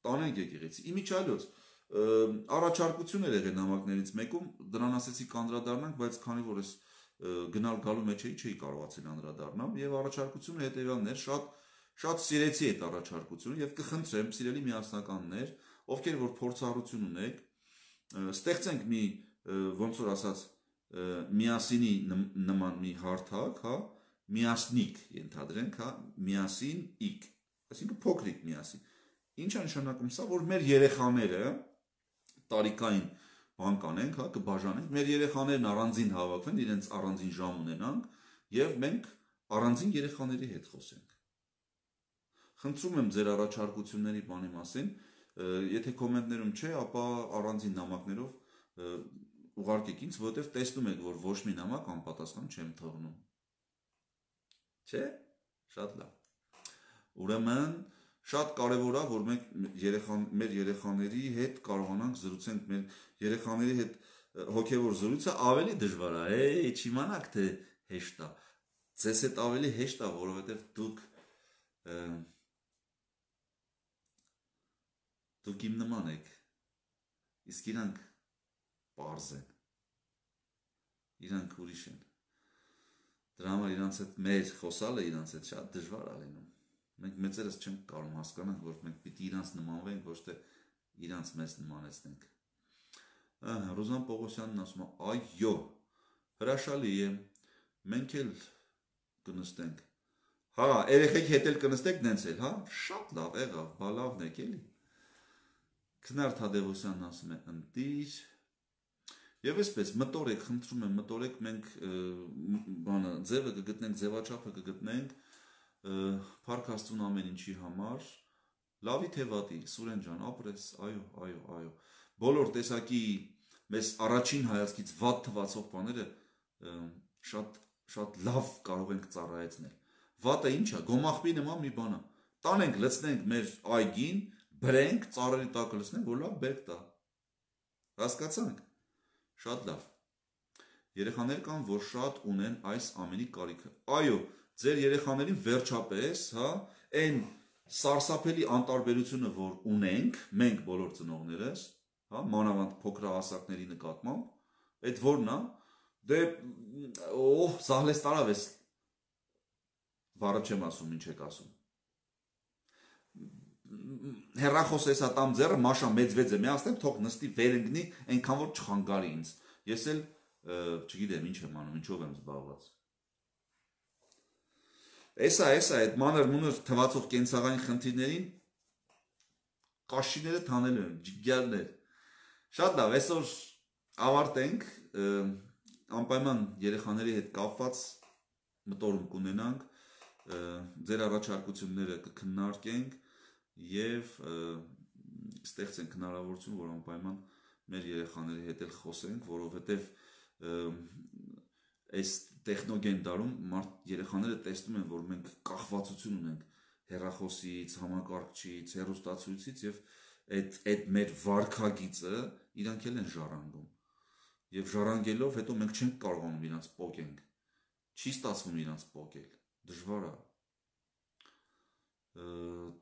Տանենք եկեղեցի։ Իմիջայլոց առաջարկություն էր եղել նամակներից մեկում, դրան ասեցի կանդրադառնանք, բայց քանի որ ես գնալ գալու մեջ էի, չէի կարողացել անդրադառնալ, եւ առաջարկությունը հետեւյալն էր, շատ շատ սիրեցի այդ առաջարկությունը եւ կխնդրեմ սիրելի միասնականներ, ովքեր որ փորձառություն ունեք, ստեղծենք մի ոնց որ ասած միասինի նման մի հարթակ, հա, միասնիկ ենթադրենք, հա, միասին իք, այսինքն փոքրիկ միասին։ Ինչ է նշանակում սա, որ մեր երեխաները տարիքային բան կանենք, հա, կբաժանենք, մեր երեխաներն առանձին հավաքվեն, իրենց առանձին ժամ ունենանք եւ մենք առանձին երեխաների հետ խոսենք։ Խնդրում եմ ձեր առաջարկությունների բանի մասին, եթե կոմենտներում չէ, ապա առանձին նամակներով ուղարկեք ինձ, որովհետև տեսնում եք, որ ոչ մի նամակ անպատասխան չեմ թողնում։ Չէ՞, շատ լավ։ Ուրեմն շատ կարևոր է, որ մենք երեխան, մեր երեխաների հետ կարողանանք զրուցենք, մեր երեխաների հետ հոգևոր զրույցը ավելի դժվար է, է, չիմանաք թե հեշտ է։ Ձեզ հետ ավելի հեշտ է, որովհետև դուք դուք իմ նման եք, իսկ իրանք պարզ են, իրանք ուրիշ են, դրա համար իրանց հետ մեր խոսալը իրանց հետ շատ դժվար է լինում, մենք մեծերս չենք կարող հասկանանք, որ մենք պիտի իրանց նմանվենք, ոչ թե իրանց մեզ նմանեցնենք։ Ռուզան Պողոսյանն ասում է, այո, հրաշալի է, մենք էլ կնստենք, հա, երեխեք հետ էլ կնստեք նենց էլ, հա, շատ լավ եղավ, բա լավն եք էլի։ Քնար Թադևոսյանն ասում է ընտիր եւ այսպես մտորեք, խնդրում եմ մտորեք, մենք բանը ձևը կգտնենք, ձևաչափը կգտնենք Փառք Աստծուն ամեն ինչի համար, լավի թե վատի, Սուրեն ջան, ապրես, այո, այո, այո։ Բոլոր տեսակի մեզ առաջին հայացքից վատ թվացող բաները շատ շատ լավ կարող ենք ծառայեցնել։ Վատը ինչ է, գոմախբի նման մի բան է։ Տանենք, լցնենք մեր այգին, բրենք, ծառերի տակը լցնենք, որ լավ բերք տա։ Հասկացանք։ Շատ լավ։ Երեխաներ կան, որ շատ ունեն այս ամենի կարիքը։ Այո, ձեր երեխաներին վերջապես, հա, այն սարսափելի անտարբերությունը, որ ունենք, մենք բոլոր ծնողներս, հա, մանավանդ փոքրահասակների նկատմամբ, այդ որն է, դե օհ, սահլես տարավ ես բառը չեմ ասում, ինչ եք ասում։ Հեռախոս էսա տամ ձեռը, մաշա մեծ վեց է միացնեմ, թող նստի վերընկնի, այնքան որ չխանգարի ինձ։ Ես էլ չգիտեմ ինչ եմ անում, ինչով եմ զբաղված։ Էսա, էսա, այդ մանր մունր թվացող կենցաղային խնդիրներին կաշիները թանելու են, ջիգյարներ։ Շատ լավ, այսօր ավարտենք, անպայման երեխաների հետ կապված մտորում կունենանք, ձեր առաջարկությունները կքննարկենք և ստեղծենք հնարավորություն, որ անպայման մեր երեխաների հետ էլ խոսենք, որովհետև այս տեխնոգեն դարում երեխաները տեսնում են, որ մենք կախվածություն ունենք հեռախոսից, համակարգչից, հեռուստացույցից և այդ մեր վարքագիծը իրանք էլ են ժառանգում։ Եվ ժառանգելով հետո մենք չենք կարողանում իրանց պոկենք, չի ստացվում իրանց պոկել, դժվար է։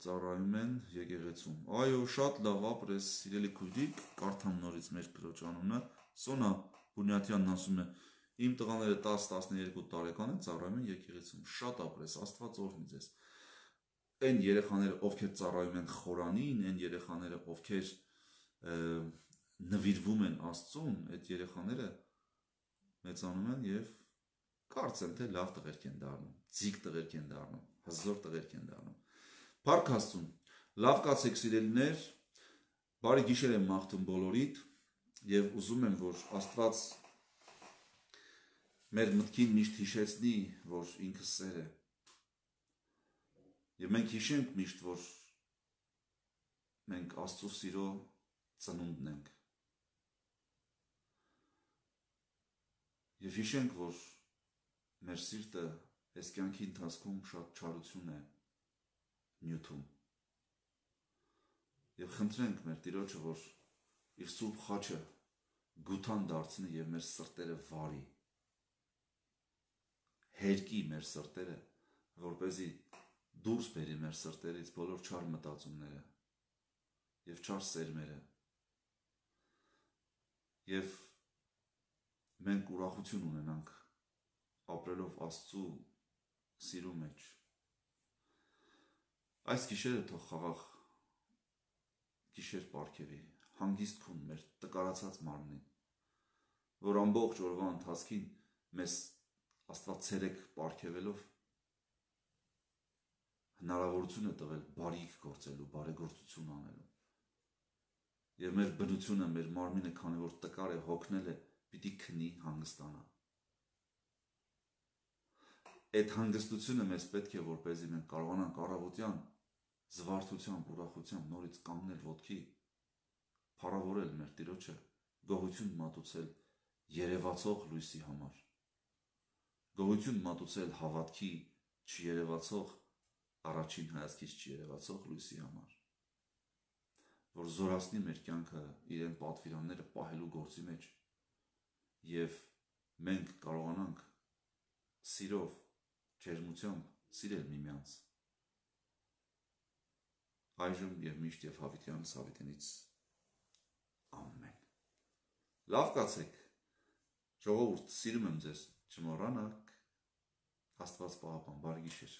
Ծառայում են եկեղեցում։ Այո, շատ լավ ապրես, սիրելի քույրիկ, կարդամ նորից մեր քրոջ անունը, Սոնա Բունյաթյանն ասում է, իմ տղաները տասը տասներկու տարեկան են, ծառայում են եկեղեցում, շատ ապրես, Աստված օրհնի ձեզ։ Այն երեխաները, ովքեր ծառայում են խորանին, այն երեխաները, ովքեր նվիրվում են Աստծուն, այդ երեխաները մեծանում են և կարծեմ, թե լավ տղերք են դառնում, ձիգ տղերք են դառնում, հզոր տղերք են դառնում։ Փառք Աստծուն, լավ կացեք սիրելիներ, բարի գիշեր եմ մաղթում բոլորիդ և ուզում եմ, որ Աստված մեր մտքին միշտ հիշեցնի, որ ինքը սեր է։ Եվ մենք հիշենք միշտ, որ մենք Աստծո սիրո ծնունդն ենք։ Եվ հիշենք, որ մեր սիրտը այս կյանքի ընթացքում շատ չարություն է նյութում։ Եվ խնդրենք մեր Տիրոջը, որ իր սուրբ խաչը գութան դարձնի և մեր սրտերը վարի, հերկի մեր սրտերը, որպեսզի դուրս բերի մեր սրտերից բոլոր չար մտածումները և չար սերմերը, և մենք ուրախություն ունենանք ապրելով Աստծու սիրո մեջ։ Այս գիշերը թող խաղաղ գիշեր պարգևի, հանգիստ քուն մեր տկարացած մարմնին, որ ամբողջ օրվա ընթացքին մեզ Աստված ցերեկ պարգևելով հնարավորություն է տվել բարիք գործելու, բարեգործություն անելու։ Եվ մեր բնությունը, մեր մարմինը, քանի որ տկար է, հոգնել է, պիտի քնի, հանգստանա։ Այդ հանգստությունը մեզ պետք է, որպեսզի մենք կարողանանք առավոտյան զվարթությամբ, ուրախությամբ նորից կանգնել ոտքի, փառավորել մեր Տիրոջը, գոհություն մատուցել երևացող լույսի համար, գոհություն մատուցել հավատքի չերևացող, առաջին հայացքից չերևացող լույսի համար, որ զորացնի մեր կյանքը իրեն պատվիրանները պահելու գործի մեջ և մենք կարողանանք սիրով, ջերմությամբ սիրել միմյանց այժմ և միշտ և հավիտյանս հավիտենից ամեն։ Լավ կացեք, ժողովուրդ, սիրում եմ ձեզ, չմոռանաք, Աստված պահապան, բարի գիշեր։